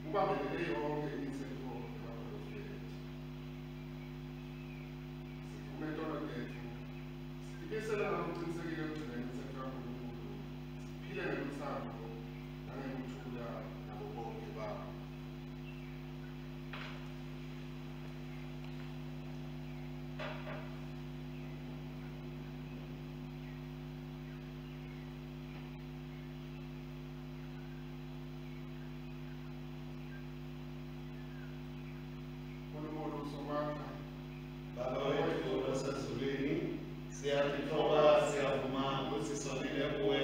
Ubambelele yonke imithetho yabaprofethi. Simisele ngalokucinisekile ekugcina imitsetfo yaNkulunkulu, siphile ngelutsandvo nangekuthula nabo bonkhe bantfu. Nkulunkulu Somandla, Baba wetfu losezulwini, siyatitfoba, siyavuma kutsi sonile kuwe,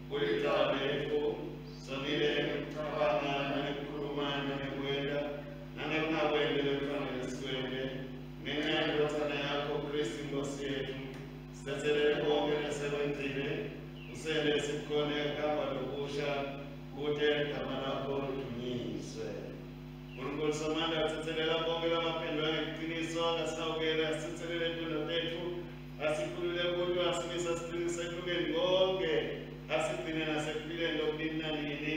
kulicala letfu, sonile ngekucabanga nangekukhuluma nangekwenta nangekungakwenti lekufanele sikwente. Ngenxa yeNdvodzana yakho Kristu Inkosi yetfu, sitsetselele konke lesekwentile, usente sikhone kuhamba lokusha kute ligama lakho lidunyiswe. Nkulunkulu Somandla, tsetselela bonke labaphendula ngeliciniso, asihawukele, asitsetselele tono tetfu, asikhulule kuto, asimise asiqinise ekulungeni konke, asigcine nasekuphileni lokunini nanini,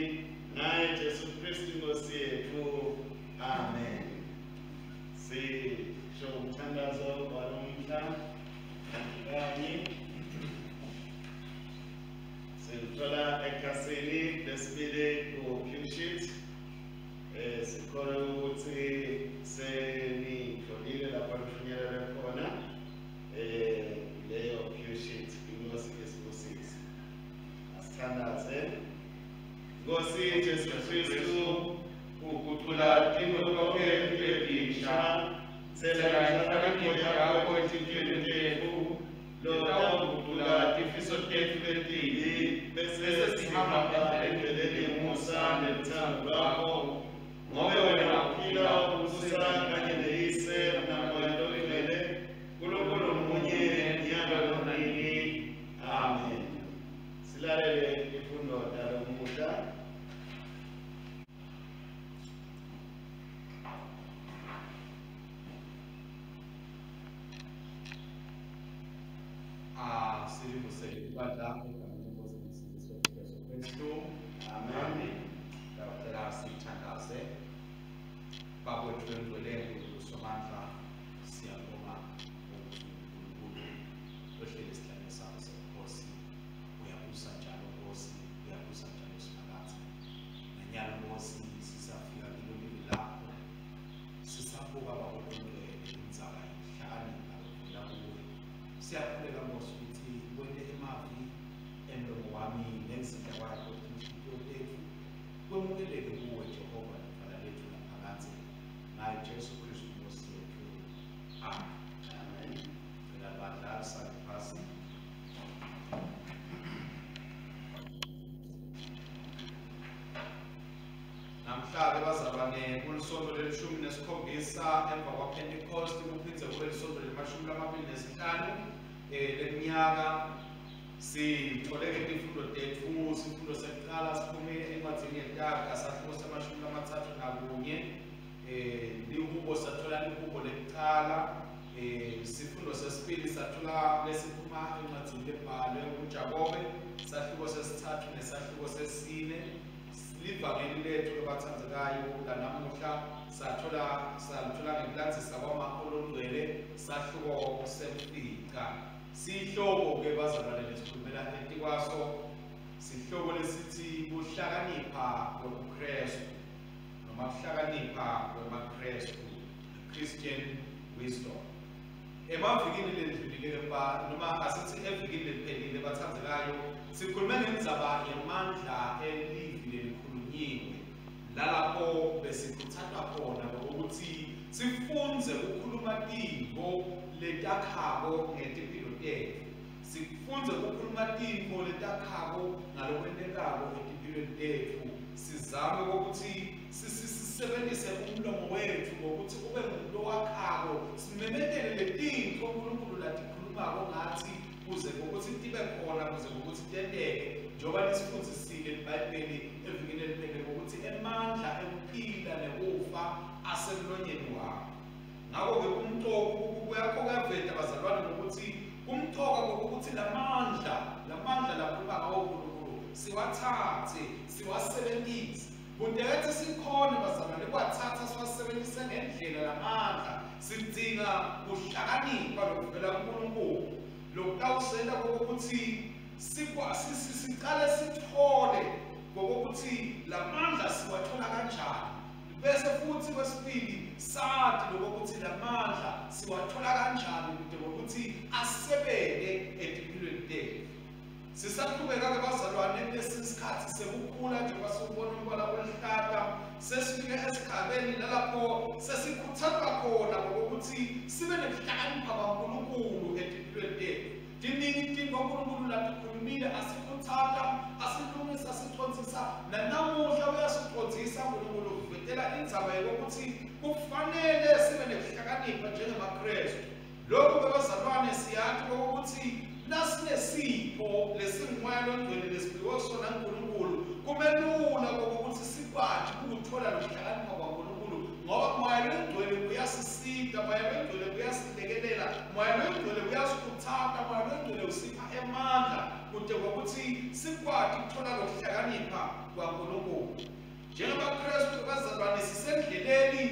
ngaye Jesu Kristu Inkosi yetfu. Amen. Sisho umthandazo walomhla kanye siwuthola ekhasini lesibili ku-pew sheet. Sikholwa ukuthi senitholile lapho nifinyelele khona leyo pew sheet. Inkosi isibusise. Asithandaze. Nkosi Jesu Kristu, ugucula tintfo tonkhe tibe tinsha, tsela inhlakanipho yakho etinhlitiyweni tetfu, lotawugucula tifiso tetfu letimbi, bese sihamba endleleni yemusa nelutsandvo lwakho, ngobe wena uphila ubusa kanye neYise naMoya Longcwele, Nkulunkulu munye nyalo nonini. Amen. Silalele tifundo talomuhla. Silivusele ibandla egameni lenkosi nomsindisi wethu Jesu Kristu. Amen. Ndawucela sithandaze. Baba wethu longcwele, Nkulunkulu Somandla, siyabonga ukuthi uNkulunkulu ohleli esihlalweni sakho sebukhosi, uyabusa njalo Nkosi, uyabusa njalo Simakadze. Nanyalo Nkosi sisafika kilo livi lakho, sisabuka Baba longcwele indzaba yekuhlakanipha lokuvela kuwe. Siyakhuleka Nkosi ukuthi wente emavi emlomo wami nenzindla kwakho tinhlitiyo tetfu kwemukeleke kuwe Jehova lidvwala letfu laphakadze, ngaye Jesu Kristu Nkosi yetfu. Amen. Amen. Cela bandla sale phasi. Namhla-ke bazalwane kulisonto lelishumi nesikhombisa emva kwaPentecost, kuphindze kube lisonto lelishumi 25 leminyaka. Sithole-ke tifundo tetfu. Sifundo sekucala siphume encwadzini yeTaga, sahluko se-31. Lihubo, sathola lihubo lekucala. Sifundo sesibili sathola lesiphuma encwadzini lebhalwe nguJakobe, sahluko sesithathu nesahluko sesine. Livangeli lethu lobathandzekayo lanamuhla sathola salithola ngekulandzisa kwaMarko longcwele, sahluko semfica. Sihloko-ke bazalwane lesikhulumela etikwaso sihloko lesithi kuhlakanipha kwebuKrestu noma kuhlakanipha kwemaKrestu, Christian wisdom. Emavikini lendlulile noma asithi evikini leliphelile bathandzekayo, sikhulume ngendzaba yemandla elivi lelikhulunyiwe, lalapho besikhutsatwa khona ukuthi sifundze ukukhuluma tintfo letakhako ngetimpilo tetfu, sifundze ukukhuluma tintfo letakhako ngalokwentekako etimpilweni tetfu, sizame ukuthi sisebenzise umlomo wetfu ngokuthi ube ngumuntu owakhako, simemetele letintfo uNkulunkulu latikhulumako ngathi kuze ngokuthi tibe khona, kuze ngokuthi tenteke, njengoba lisifundzisile iBhayibheli evikini eliphelele ngokuthi emandla ekuphila nekufa asemlonyeni wakho. Ngakho-ke kumcoka kuyaveta bazalwane ngokuthi kumcoka kokuthi lamandla lakhuluma ngawo uNkulunkulu siwathathe siwasebenzise, kute sikhone bazalwane kuwathatha siwasebenzise ngendlela lamandla. Sidzinga kuhlakanipha lokuvela kuNkulunkulu. Lokutawusenta kokuthi siqale sithole ngokuthi lamandla siwathola kanjani, bese futhi kwesibili sathi lokuthi lamandla siwathola kanjani kude ngokuthi asebeke etimpilweni tethu. Sisaqhubeka ke bazalwane kulesi sikhathi sekukhula, njengoba siwubona umbala oluhlata, sesifike esigabeni nalapho sesikhuthazwa khona ngokuthi sibe nekuhlakanipha kaNkulunkulu etimpilweni tethu. Tiningi itinto uNkulunkulu latikhulumile, asikhuthaza, asilungisa, asicondzisa, nanamuhla uyasicondzisa uNkulunkulu uvetela indzaba yokuthi kufanele sibe nekuhlakanipha njengemaKrestu. Lokhu ke bazalwane siyathi ukuthi nasinesipho lesingumoya longcwele lesiphiwe sona uNkulunkulu, kumelula ukuthi sikwazi ukuthola lokuhlakanipha kwaNkulunkulu, ngoba moya longcwele uyasisita, moya longcwele uyasilekelela, moya longcwele uyasikhuthaza, moya longcwele usipha emandla kude ngokuthi sikwazi ukuthola lokuhlakanipha kwaNkulunkulu. NjengamaKrestu bazalwane sisendleleni,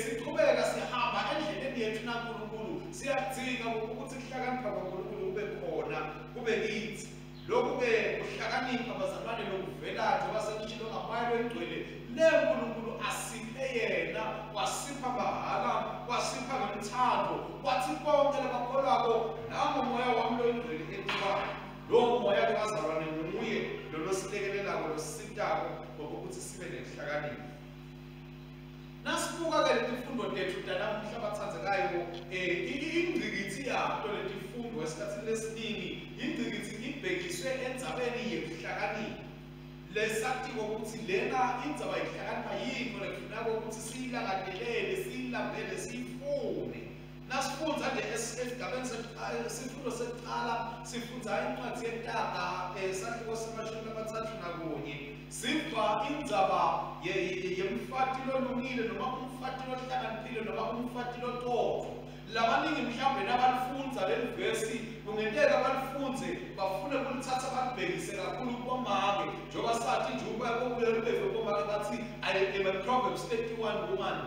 siqhubeka sihamba endleleni yethu naNkulunkulu. Siyadzinga ukuthi kuhlakanipha kwaNkulunkulu kube khona, kube kithi. Lokhu-ke kuhlakanipha bazalwane lokuvela njengoba sengishilo ngamoya longcwele le uNkulunkulu asiphe yena, wasipha mahhala, wasipha ngemthando, wathi bonke labakholwako nangomoya wami longcwele etikwabo. Lowo moya ke bazalwane nguye lolo silekelelako, losisitako ngokuthi sibe nekuhlakanipha. Nasibuka ke letifundo tethu tanamuhla bathandzekayo, ingcikithi yato letifundo esikhathini lesiningi ingcikithi ibhekiswe endzabeni yekuhlakanipha. Lesatiko ukuthi lena indzaba yekuhlakanipha yintfo lekufuneka ukuthi siyilangatelele, siyilambele, siyifune. Nasifundza nje esigabeni sifundo sekuqala, sifundza incwadi yeTaga, esahluko se-31, siva indzaba yemfati lolungile noma umfati lohlakaniphile noma umfati lototho. Labaningi mhlawumbe nabalifundza leli vesi kungenteka balifundze bafune kulithatha balibhekise kakhulu kubomake, njengoba sathi nje ukuba kobuye kubomake bathi I am a Proverbs 31 woman.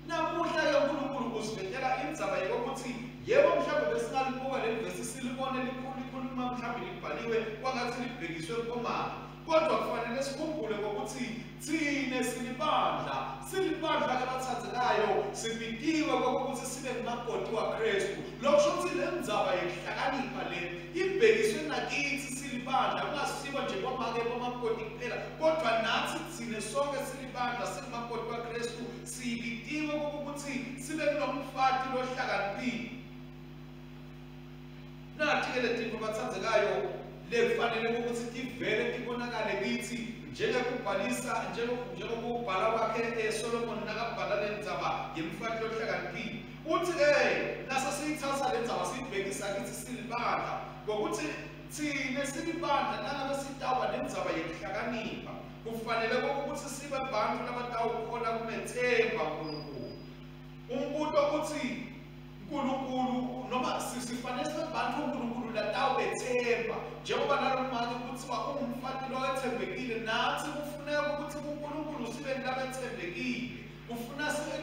Namuhla ke uNkulunkulu usivetela indzaba yokuthi yebo mhlawumbe besingalibuka leli vesi silibone likhuluma mhlawumbe libhaliwe kwangathi libhekiswe kubomake, kodwa kufanele sikhumbule ngokuthi thine silibandla, silibandla ke bathandzekayo, sibitiwe kokuthi sibe ngumakoti waKrestu. Lokho ukuthi le ndzaba yekuhlakanipha le ibhekiswe nakithi silibandla, kungasibo nje bomake bomakoti kuphela, kodwa nathi thine sonke silibandla, singumakoti waKrestu, sibitiwe kokuthi sibe kunomfati lohlakaniphile. Nathi ke letintfo bathandzekayo lekufanele ukuthi tivele tibonakale kithi, njengekubhalisa njengokubhala kwakhe Solomon nakabhala le ndzaba yemfati lohlakaniphile. Uthi ke nase siyithatha le ndzaba siyibhekisa kithi silibandla, ngokuthi thine silibandla nangabe sitawuba nendzaba yekuhlakanipha kufanele ukuthi sibe bantu labatawukhona kumethemba uNkulunkulu. Umbuto uthi uNkulunkulu noma sifanele sibe bantu uNkulunkulu latawubethemba, njengoba nalomake kuthiwa ungumfati lowethembekile, nathi kufuneka ukuthi kuNkulunkulu sibe labethembekile, kufuna sibe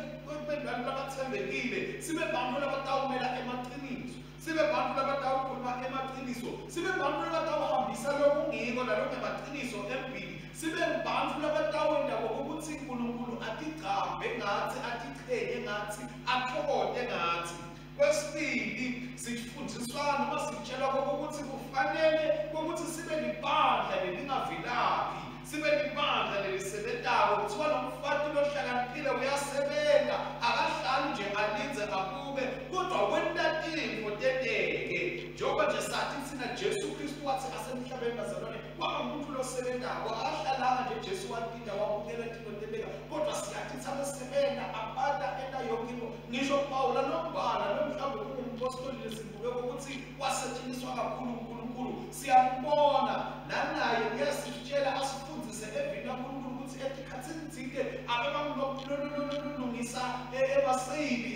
bantu labathembekile, sibe bantu labatawumela emaqiniso, sibe bantu labatawukhuluma emaqiniso, sibe bantu labatawuhambisa lokungiko nalokungemaqiniso embili, sibe bantu labatawenda ngokuthi uNkulunkulu atigcambe ngathi, atichenye ngathi, athokote ngathi. Kwesibili sifundiswa noma sitshelwa ukuthi kufanele ukuthi sibe libandla lelingavilaphi, sibe libandla lelisebentako. Kuthiwa lo mfati lohlakaniphile uyasebenza, akahlali nje alindze abuke, kodwa wenta tintfo tenteke. Njengoba nje sathi thina Jesu Kristu wathi asemhlabeni bazalwane kwaba umuntu losebentako, akahlalanga nje Jesu watinda wabukela tintfo tenteka, kodwa siyathi sabesebenza abata enta yonke into. Ngisho Pawula nombhala lo mhlawumbe kungumpostoli lesibuke ukuthi wasetshenziswa kakhulu uNkulunkulu, siyambona nanaye uyasitshela asifundise evini laNkulunkulu ukuthi etikhathini tsite abebangulokulungisa emaseyili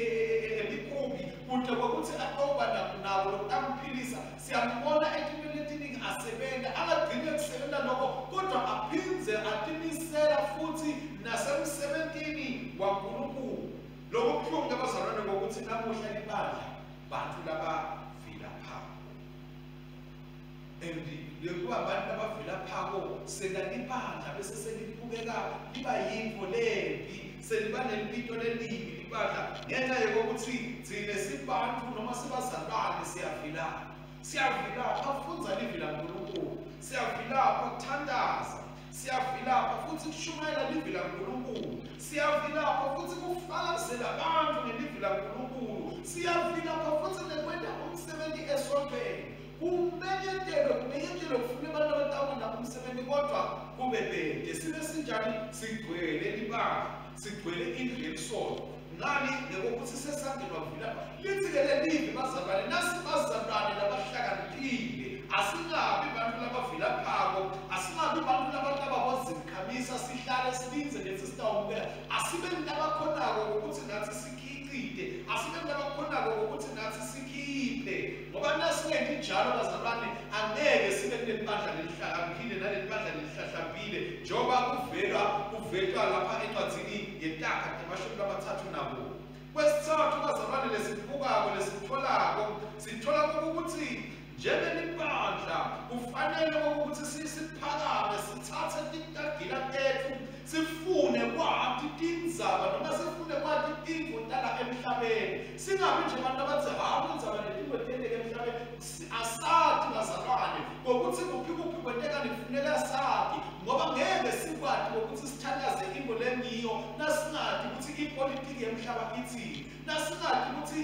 emikhumbi kude kwekuthi atoba nako lokutamphilisa. Siyambona etintweni letiningi asebenza, angagcini ekusebenza lokho, kodwa aphindze atimisela futhi nasemsebentini waNkulunkulu. Lokhu kubuhlungu ke bazalwane ngokuthi namuhla libandla bantu labavilaphako. And lekuba abantu abavilaphako senalibandla bese selibukeka liba yintfo lembi, seliba nelibito lelibi libandla ngenxa yokuthi thine sibantu noma sibazalwane siyavilapha. Siyavilapha kufundza livi laNkulunkulu, siyavilapha kuthandaza, siyavilapha futhi kushumayela livi laNkulunkulu, siyavilapha futhi kufakazela abantu ngelivi laNkulunkulu, siyavilapha futhi nekwenta umsebenzi esontweni. Kumenyetelwe kufuna abantu abatawenda umsebenzi kodwa kube bede. Sibe sinjani? Sigcwele libandla, sigcwele indlu yelisonto. Ngani? Ngokuthi sesangenwa kuvilapha. Lithi-ke lelivi bazalwane, nasibazalwane labahlakaniphile, asingabi bantu labavilaphako, asingabi bantu labatababozimkhamisa sihlale silindze lethi sitawumukela. Asibe labakhonako ngokuthi nathi sikhicite, asibe labakhonako ngokuthi nathi sikhiphe, ngoba nasingenti njalo bazalwane angeke sibe kulelibandla lelihlakaniphile nalelibandla lelihlahlambile, njengoba kuvelwa lapha encwadzini yeTaga 34. Kwesithathu bazalwane lesibukako lesitholako, sithola ukuthi njengelibandla kufanele ukuthi siphakame, sithathe titagila tethu, sifune kwati tindzaba noma sifune kwati tintfo tala emhlabeni. Singabi nje abantu abathi hawu indzaba letintfo tenteke emhlabeni. Asati bazalwane ngokuthi kuphi kuphi kwentekani, kufuneka sati, ngoba ngeke sikwati ngokuthi sithandaze into lengiyo nasingati ukuthi ipolitiki yemhlaba ithini, nasingati ukuthi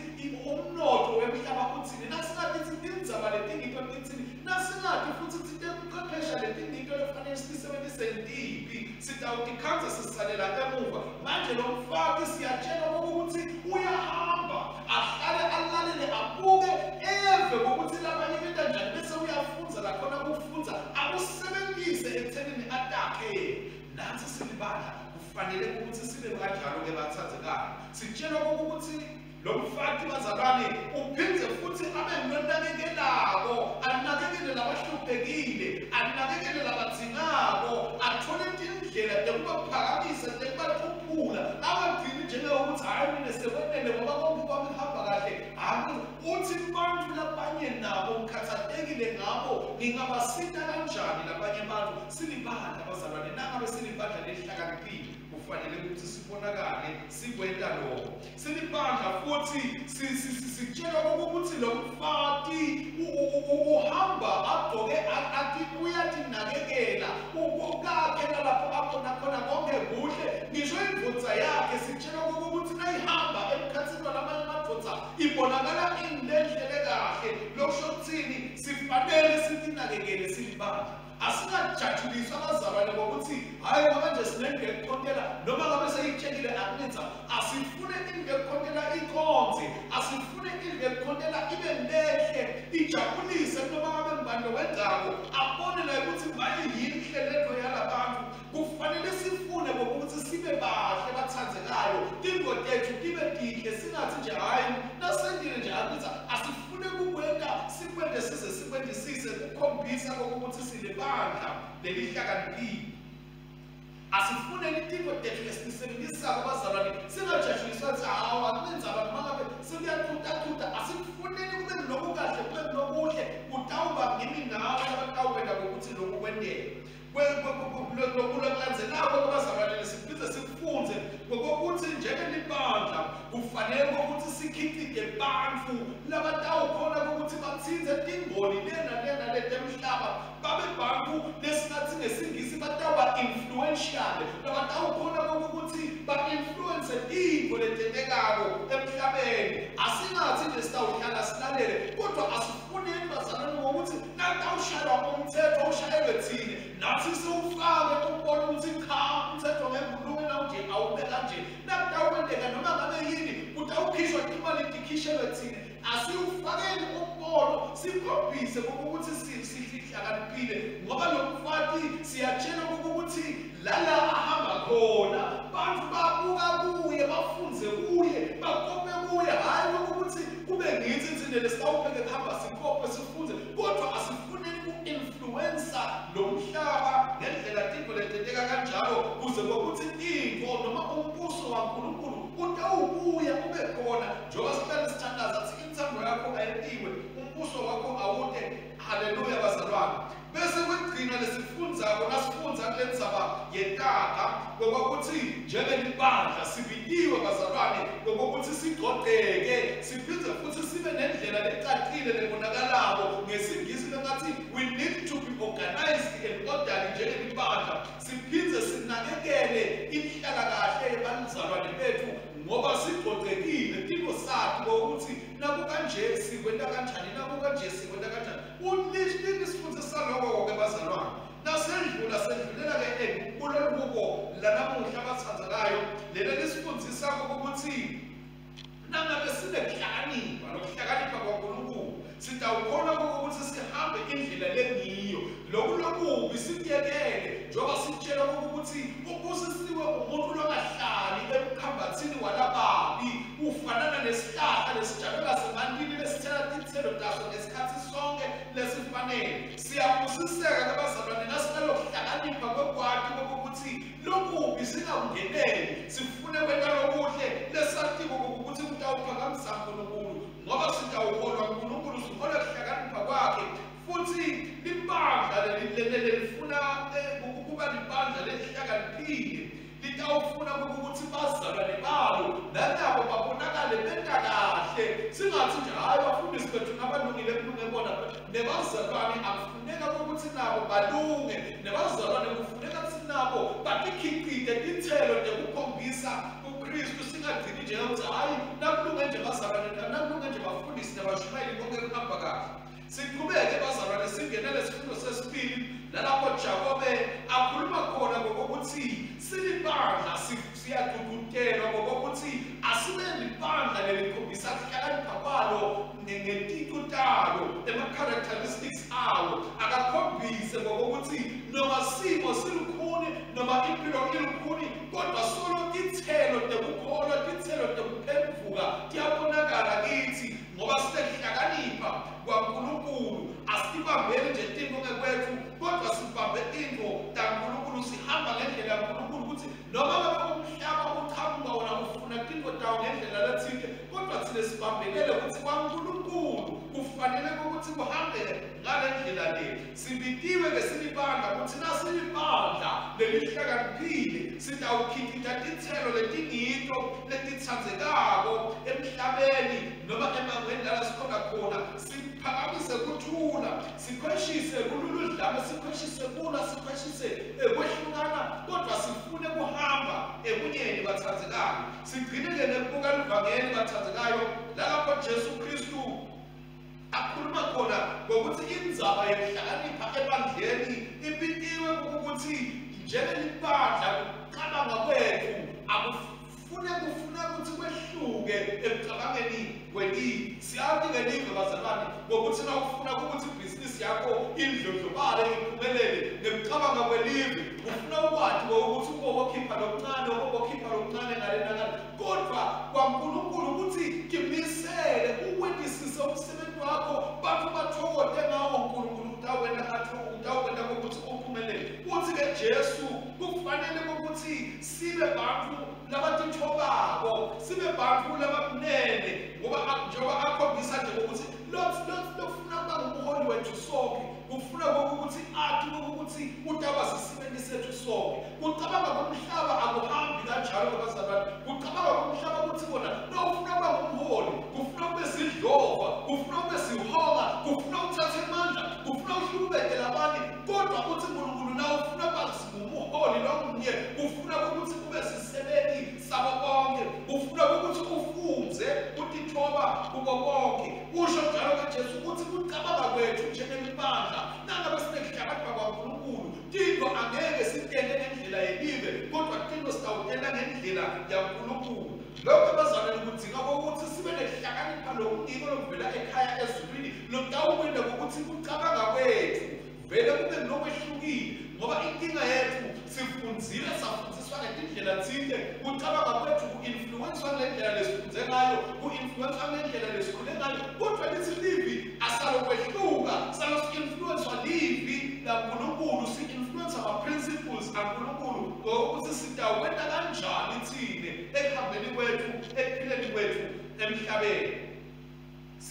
umnotfo wemhlaba uthini, nasingati ukuthi tindzaba letingito tithini, nasingati futhi ukuthi tekuchwephesha letingito lekufanele sisebenzise tiphi, sitawutikhandza sisalela emuva. Manje lo mfati siyatshela ukuthi uyahamba ahlale alalele abuke eve ngokuthi labanye benta njani, bese uyafundza lakhona kufundza akusebenzise ekuthenini atakhe. Nathi silibandla kufanele ukuthi sibe kanjalo-ke bathandekayo. Sitshelwa ukuthi lo mfati bazalwane uphindze futhi abe ngulonakekelako, anakekele labahluphekile, anakekele labadzingako, athole tindlela tekubaphakamisa, tekubathuphula, angagcini njengokuthi hhayi mina sekwenele ngoba konke kwami kuhamba kahle. Hhayi, uthi bantu labanye nabo ngikhathatekile ngabo, ngingabasita kanjani labanye bantu? Silibandla bazalwane, nangabe silibandla lelihlakaniphile kufanele ukuthi sibonakale sikwenta lokho. Silibandla futhi sitshelwa ukuthi lo mfati uhamba agqoke athi uyatinakekela ukakhe nalapho akhona khona konke kuhle, ngisho indvodza yakhe sitshelwa ukuthi nayihamba emkhathini walamanye amadvodza ibonakala inendlela kahle. Lokusho kuthini? Sifanele sitinakekele silibandla. Asingajatshuliswa abazalwane ngokuthi hhayi ngoba nje sinendlu yekukhontela noma ngabe seyitshekile akunenza. Asifune indlu yekukhontela ikhonze, asifune indlu yekukhontela ibe lenhle, ijabulise noma ngabe ngubani lowenzako abone naye ukuthi maye yinhle lento yalabantu. Kufanele sifune ngokuthi sibe bahle bathandekayo, tintfo tethu tibe tinhle, singathi nje hhayi nasendile nje akunenza. Asifune kukwenta sikwente size sikwentisise kukhombisa kokuthi silibandla lelihlakaniphile. Asifune litintfo tethu lesitisebenzisako bazalwane, singajatshuliswa ukuthi hawu akunendzaba noma ngabe sekuyathutathuta. Asikufuneni kube lokukahle, kube lokuhle, kutawuba ngimi nawe labatawukwenta ngokuthi loku kwenteke. Lokulandzelako kubazalwane lesiphindze sikufundze ngokuthi njengelibandla kufanele ukuthi sikhicite bantfu labatawukhona ukuthi batsintse tingoni lena lena letemhlaba, babe bantfu lesingathi ngesingisi batawuba influential, labatawukhona ukuthi ba-influence tintfo letentekako emhlabeni. Asingathi nje sitawuhlala silalele, kodwa asifuneni bazalwane ngokuthi nakutawushaywa umthetho ushayelwe thine nathi siwufake ubone ukuthi cha umthetho ngeke ulunge nawunje awube kanje, nakutawukwenteka noma ngabe yini kutawukhishwa imali tikhishelwe thine. Asiwufakeni umbono sikhombise ukuthi sihlakaniphile, ngoba lo mfati siyatshela ukuthi lala ahamba khona bantu babuka kuye, bafunze kuye, bakope kuye. Hhayi ukuthi kube ngithi thina lesitawupheke kuhamba sikope sifunze, kodwa asifuneni ku-influensa lo mhlaba ngendlela tintfo letenteka kanjalo, kuze kokuthi tintfo noma umbuso waNkulunkulu utawubuya ube khona. Njengoba sihlale sithandaza sithi intsandvo yakho ayentiwe, umbuso wakho awute. Haleluya bazalwane. Lokugcina lesifundzako nasifundza kule ndzaba yetaga ngokuthi njengelibandla sibitiwe bazalwane ngokuthi sigcogceke siphindze futhi sibe nendlela lecacile lebonakalako. Ngesingisi bengathi we need to be organized and orderly njengelibandla, siphindze sinakekele inhlalakahle yebazalwane bethu ngoba sigcogcekile timo sakhe ukuthi naku kanje sikwenta kanjani, naku kanje sikwenta kanjani. Ulisifundisa lokho-ke bazalwane. Nasendlula sendlulela-ke kulolu buko lanamuhla abathandzekayo, lelo lisifundisako ukuthi nangabe sinekuhlakanipha, lokuhlakanipha kwaNkulunkulu, sitawukhona ukuthi sihambe indlela lengiyo. Loku lokubi sikuyekele, njengoba sitshela ukuthi ubusisiwe umuntu longahlali emkhambathini walababi, ufanana nesihlahla lesitshalwe ngasemantini lesithela titselo taso ngesikhathi sonke lesifanele. Siyabusiseka ke bazalwane nasinalokuhlakanipha kwekwati kokuthi lokubi singakungeneli, sifune kwenta lokuhle lesatiko ukuthi kutawuphakamisa uNkulunkulu, ngoba sitawuholwa uNkulunkulu, sihola kuhlakanipha kwakhe. Futhi libandla lelifuna ukuba libandla lelihlakaniphile litawufuna ukuthi bazalwane balo nanabo babonakale benta kahle. Singathi nje hayi bafundisi bethu nabalungile kulunge bona, nebazalwane akufuneka ukuthi nabo balunge, nebazalwane kufuneka ukuthi nabo batikhicite titselo tekukhombisa uKristu. Singagcini nje ukuthi hayi nakulunge nje bazalwane, nakulunge nje bafundisi nabashumayeli konke kuhamba kahle. Siqhubeke bazalwane singenele sifundo sesibili nalapho Jakobe akhuluma khona ngokuthi silibandla siyagqugqutelwa ngokuthi asibe libandla lelikhombisa kuhlakanipha kwalo ngeticu talo, ema-characteristics awo akakhombise ngokuthi noma simo silukhuni noma impilo ilukhuni, kodwa solo titselo tekukholwa, titselo tekuphenduka tiyabonakala kithi ngoba sinekuhlakanipha kwaNkulunkulu. Asibambeli nje tinto ngekwethu, kodwa sibambe tinto taNkulunkulu, sihamba ngendlela yaNkulunkulu ukuthi noma ngabe umhlaba uqhamuka wona ufuna tinto tawo ngendlela lethile, kodwa thina sibambelele ukuthi kwaNkulunkulu kufanele ukuthi kuhambe ngale ndlela le. Sibitiwe ke silibandla ukuthi nasilibandla lelihlakaniphile sitawukhicita titselo letingito letitsandzekako emhlabeni noma emangweni lala sikhona khona, siphakamise kuthula, sikhweshise kululudlame, sikhweshise kula, sikhweshise kwehlukana, kodwa sifune kuhamba ebunyeni bathandzekayo. Sigcine-ke nekubuka livangeli bathandzekayo lalapho Jesu Kristu akhuluma khona ngokuthi indzaba yekuhlakanipha ebandleni ibitiwe ukuthi njengelibandla kucabanga kwethu akufune kufuna ukuthi kwehluke ekucabangeni kwelive. Siyazi ngelive bazalwane ngokuthi na ufuna ukuthi ibhizinisi yakho indlondlobale iphumelele ngekucabanga kwelive, ufuna ukwati ukuthi ubokhipha lokuncane, ubokhipha lokuncane ngale nangale, kodwa kwaNkulunkulu ukuthi timisele uwentisise umsebenzi wakho, bantu bathokote ngawo uNkulunkulu utawukwenta ukuthi uphumelele. Uthi-ke Jesu kufanele ukuthi sibe bantu labatithobako, sibe bantu labamnene, ngoba njengoba akhombisa nje ukuthi lofuna kuba ngumholi wethu sonke, kufuna ukuthi athi ukuthi utaba sisebenti sethu sonke. Kucabanga komhlaba akuhambi kanjalo bazalwane. Kucabanga komhlaba ukuthi bona lofuna kuba ngumholi kufuna kube sidlova, kufuna kube sihonga, kufuna uthathe amandla, kufuna uhlukubete labanye, kodwa uthi uNkulunkulu na ufuna kuba ngumholi lomunye, kufuna ukuthi kube sisebenti sabo bonke, kufuna ukuthi ufunze utithoba kubo bonke. Usho njalo ke Jesu ukuthi kucabanga kwethu njengelibandla nangabe sinekuhlakanipha kwaNkulunkulu, tinto angeke sitente ngendlela yelive, kodwa tinto sitawutenta ngendlela yaNkulunkulu. Lokho bazalwane kudzinga ukuthi sibe nekuhlakanipha lokungiko lokuvela ekhaya ezulwini, lokutawukwenta ukuthi kucabanga kwethu vele kube ngilokwehlukile, ngoba inkinga yethu sifundzile safundziswa ngetindlela thile, kucabanga kwethu ku-influenswa ngendlela lesifundze ngayo, ku-influenswa ngendlela lesikhule ngayo, kodwa lithi livi asalokwehluka, salo-influenswa livi laNkulunkulu, si-influensa ama-principles aNkulunkulu ngokuthi sitawukwenta kanjani thine ekuhambeni kwethu, ekuphileni kwethu emhlabeni.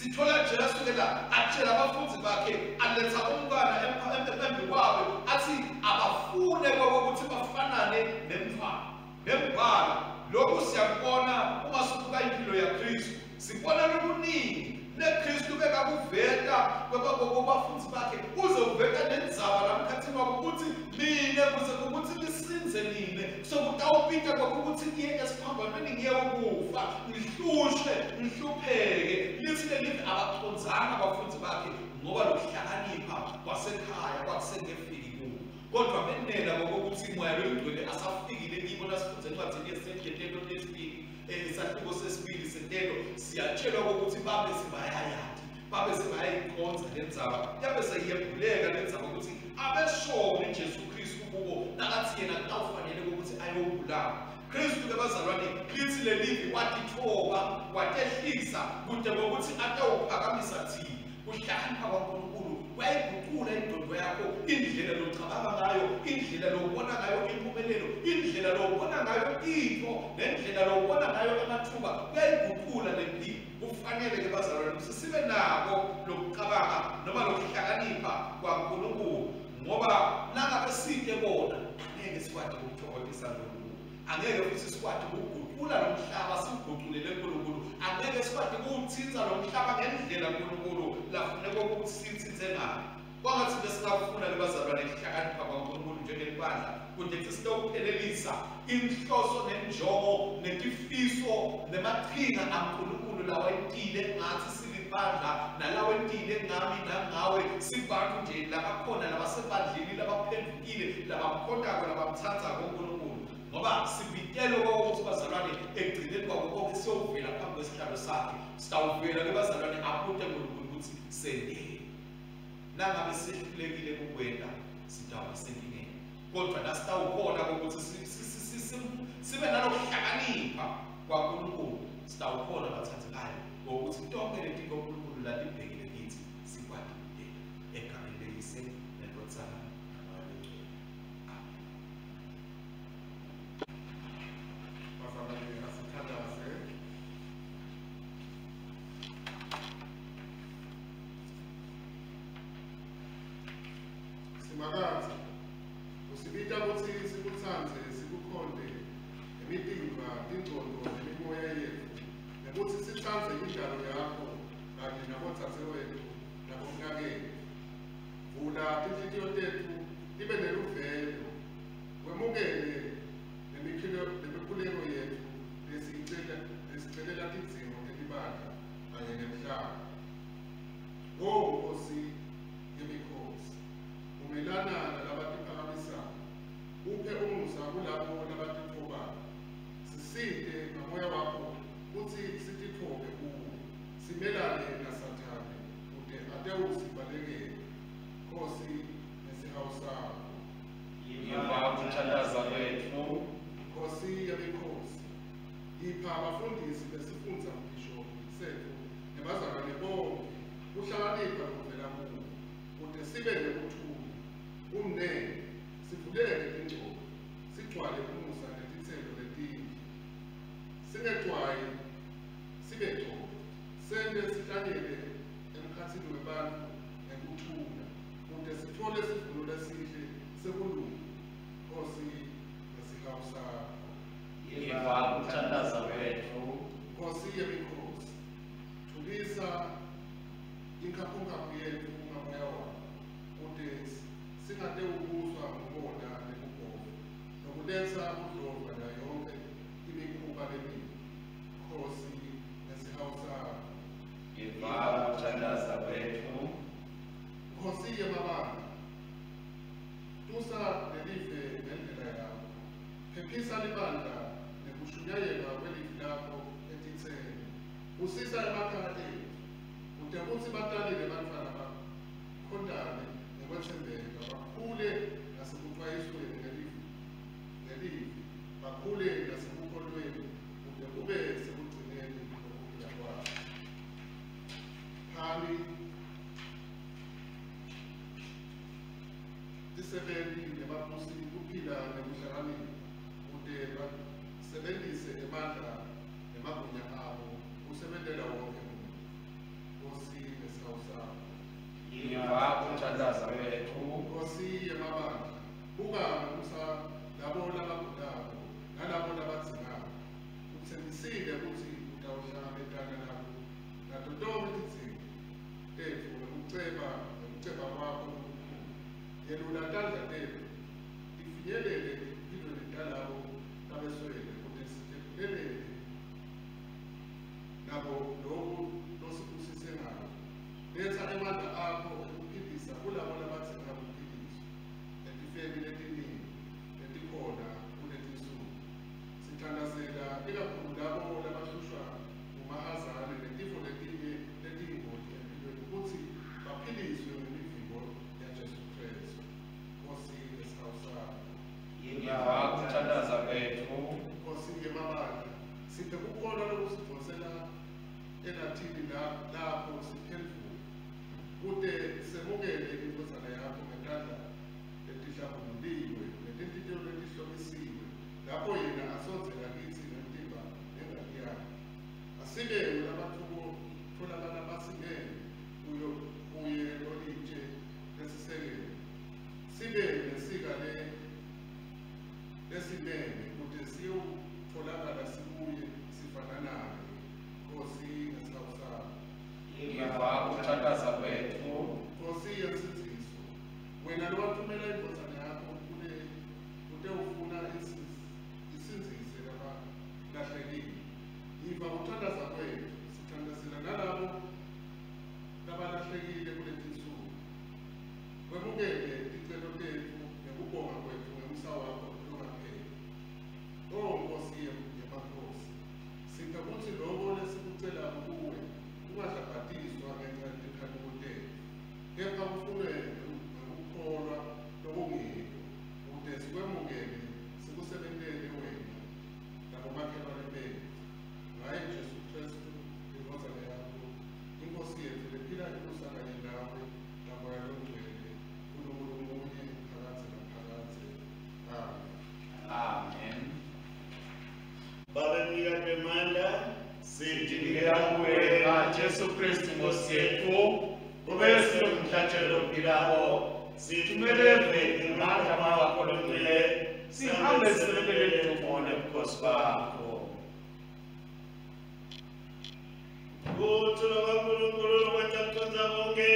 Sithola Jesu ke la atshela abafundi bakhe aletha umntwana embi kwabo athi abafune ukuthi bafanane nemntwana nembala. Lokhu siyakubona uma sibuka impilo yaKristu, sibona lokuningi neKristu bekakuveta kwabafundi bakhe uze uveta nendzaba lamkhathini wabo ukuthi mina kuze ukuthi nisinze nine sokutawupita kwakho ukuthi ngiye esiphambanweni ngiye ukufa ngihlushwe ngihlupheke. Lithi lelithi abacondzanga abafundi bakhe ngoba lokuhlakanipha kwasekhaya kwakusengefiki kubo, kodwa benela ngokuthi moya loyingcwele asafikile kibo. Nasifunze encwadini yesendletelo lesibili isahluko sesibili sentelo siyatshelwa ukuthi babe sebayayati babe sebayayikhonza lendzaba yabe seyiyembuleka lendzaba ukuthi abeshone Jesu Kristu kubo nakathi yena kutawufanele ukuthi ayobulawa. Kristu ke bazalwane lithi lelivi watithoba watehlisa kude ngokuthi atawuphakamisa thina. Kuhlakanipha kwaNkulunkulu kuyayiguqula ingqondo yakho, indlela locabanga ngayo, indlela lobona ngayo impumelelo, indlela lobona ngayo into nendlela lobona ngayo amathuba, kuyayiguqula le mpilo. Kufanele ke bazalwane ukuthi sibe nako lokucabanga noma lokuhlakanipha kwaNkulunkulu, ngoba nangabe side bona angeke sikwati ukuthokozisa uNkulunkulu, angeke futhi sikwati ukuguqula lo mhlaba siwuguqulele uNkulunkulu, angeke sikwati ukuwutsintsa lo mhlaba ngendlela uNkulunkulu lafuneka ukuthi sitsintse ngayo. Kwangathi besingakufuna ke bazalwane ukuhlakanipha kwaNkulunkulu njengelibandla kude sitawuphelelisa inhloso nenjongo netifiso nemaqhinga aNkulunkulu lawentile ngathi silibandla nalawentile ngami nangawe sibantu nje labakhona labasebandleni labaphendukile labamkhontako labamthandzako uNkulunkulu, ngoba sibitelwe ukuthi bazalwane ekugcineni kwabo konke siyovela phambi kwesihlalo sakhe. Sitawuvela ke bazalwane abute uNkulunkulu ukuthi sendele. Nangabe sehlulekile kukwenta sitawuba senkingeni, kodwa nasitawukhona ukuthi sibe nalokuhlakanipha kwaNkulunkulu sitawukhona bathandekayo ngokuthi tonke letinto uNkulunkulu latibhekile kithi sikwati ukudela. Egameni leyise neNdvodzana naMoya Longcwele, amen. Bazalwane asithandaze. Simakadze, usibita kutsi sikutsandze sikukhonte ngemitimba, tingcondvo nemimoya yetfu, nekutsi sitsandze indalo yakho kanye nabodzadzewetfu nabomnaketfu. Vula tinhlitiyo tetfu tibe neluvelo, wemukele nemikhuleko yetfu lesicelela tidzingo telibandla kanye nemhlaba. O Nkosi yemikhosi, umelana nalabatiphakamisako, uphe umusa kulabo labatitfobayo. Sisite ngamoya wakho kutsi sititfobe kuwe, simelane naSathane kute atewusibalekela. Nkosi nesihawu sakho. Yiva kuthandaza kwetfu. Nkosi yemikhosi, ipha abafundisi besifundza mbhishobhi setfu nebazalwane bonke kuhlakanipha lokuvela kuwe, kute sibe nekuthula, umnene, sivuleke tingcondvo, sigcwale umusa netitselo letinhle, singecwayi sibe cotfo, sente sihlanyele emkhatsini webantfu ngekuthula, kute sitfole sivuno lesihle sekulunga. Nkosi nesihawu sakho. Yiva kuthandaza kwetfu. Nkosi yemikhosi, thulisa inkhaphunkhaphu yetfu ngamoya wakho, kute singatewubuswa ngumona nekubhova nokuletsa budlova nayo yonke imikhuba lemibi. Nkosi nesihawu sakho. Yiva kuthandaza kwetfu. Nkosi yemabandla, tusa lelive ngendlela yakho, phephisa libandla nekushunyayelwa kwelivi lakho etitseni, busisa emakhaya etfu kute kutsi batali nebantfwana bakhontane ngekwetsembeka, bakhule nasekucwayisweni ngelivi, bakhule nasekukholweni kute kube sekugcineni kokuphila kwabo. Phani tisebenti nebabusi kuphila nekuhlakanipha kute basebentise emandla nemagunya abo kusebentela wonke umuntu. kuthandaza kwethu. Nkosi yemabandla, buka ngomusa labo labagulako nalabo labadzingako. Utsembisile kutsi utawuhlangabetana nabo nato tonkhe tidzingo tetfu ngekuceba kwakho lokukhulu. Yelula tandla tetfu tifinyelele etimphilweni talabo labeswele kute sitephelele nabo loku losibusise ngako. Letsa emandla akho ekuphilisa kulabo labadzinga kuphiliswa etifeni letiningi letikhona kuletinsuku. Sithandazela ikakhulu labo labahlushwa ngumahazane netifo letinye letiyingoti empilweni kutsi baphiliswe ngemivimbo yaJesu Kristu. Nkosi ngesihawu sakho. Yiva kuthandaza kwetfu. Nkosi yemabandla, siphe kukholwa lokusidvonsela elathini lapho siphendvuke kute semukele indvodzana yakho ngetandla letihlambululiwe netinhlitiyo letihlomisiwe lapho yena asondzela kitsi ngemtimba nengati yakhe. Asibe ngulabatfolakala basimeme kuye lolitshe lesisekelo, sibe nensika lesimeme kute siyotfolakala sikuye sifananaye. Nkosi ngesihawu sakho. Yiva kuthandaza kwetfu. Nkosi yensindziso, wena lowathumela indvodzana yakho kutewufuna isindzise labalahlekile. Yiva kuthandaza kwetfu. Sithandazela nalabo labalahlekile kuletinsuku. Wemukele ticelo tetfu nekubonga kwetfu ngemusa wakho longapheli. O Nkosi yemakhosi, siphe kutsi loko lesikucelako kuwe kungahlabhatiswa ngenca yetikhanuko tetfu, kepha kufunwe ngekukholwa lokungiko, kute sikwemukele sikusebentele wena nabomakhelwane betfu. Ngaye Jesu Kristu indvodzana yakho, iNkosi yetfu lephila ibusa kanye nawe naMoya Longcwele, Nkulunkulu munye phakadze naphakadze. Amen. Amen. Babe mnikati wemandla, Sitinikela kuwe ngaJesu Kristu Nkosi yetfu, kube sinomhlatshelo ophilako, sithumele eveni ngamandla wakho longcwele, sihambe sisebentele ludumo nebukhosi bakho. Kuthula kwaNkulunkulu lokwenta kucondza konkhe,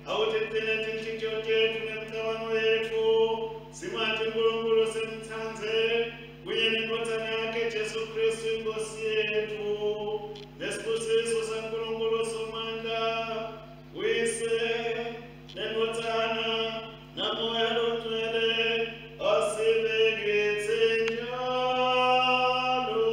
awutigcine tinhlitiyo tetfu nemicabango yetfu, simati Nkulunkulu simtsandze, kunye nendvodzana yakhe Jesu Kristu iNkosi yetfu. Nesibusiso saNkulunkulu Somandla, Uyise, nendvodzana, naMoya Longcwele, asibe kitsi njalo.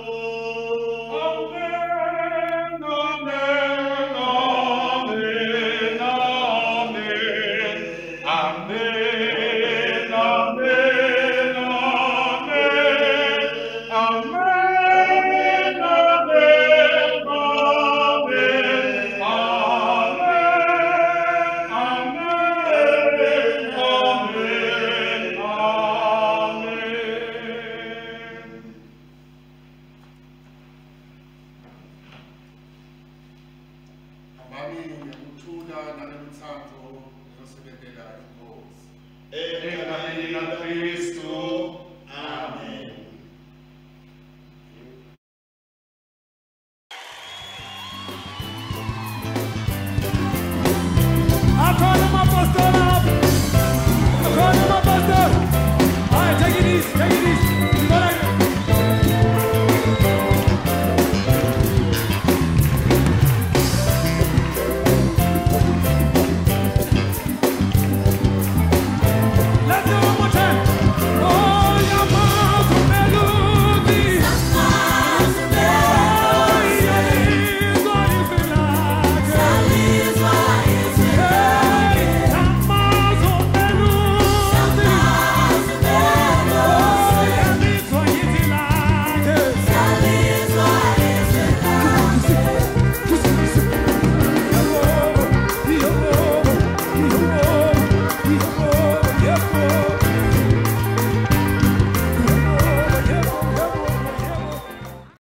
Amen, amen, amen, amen. Amen, amen, amen. Amen, amen, amen. Amen, amen, amen, amen. Hambani ngekuthula nangelutsandvo niyosebentela iNkosi. Egameni laKristu. Amen.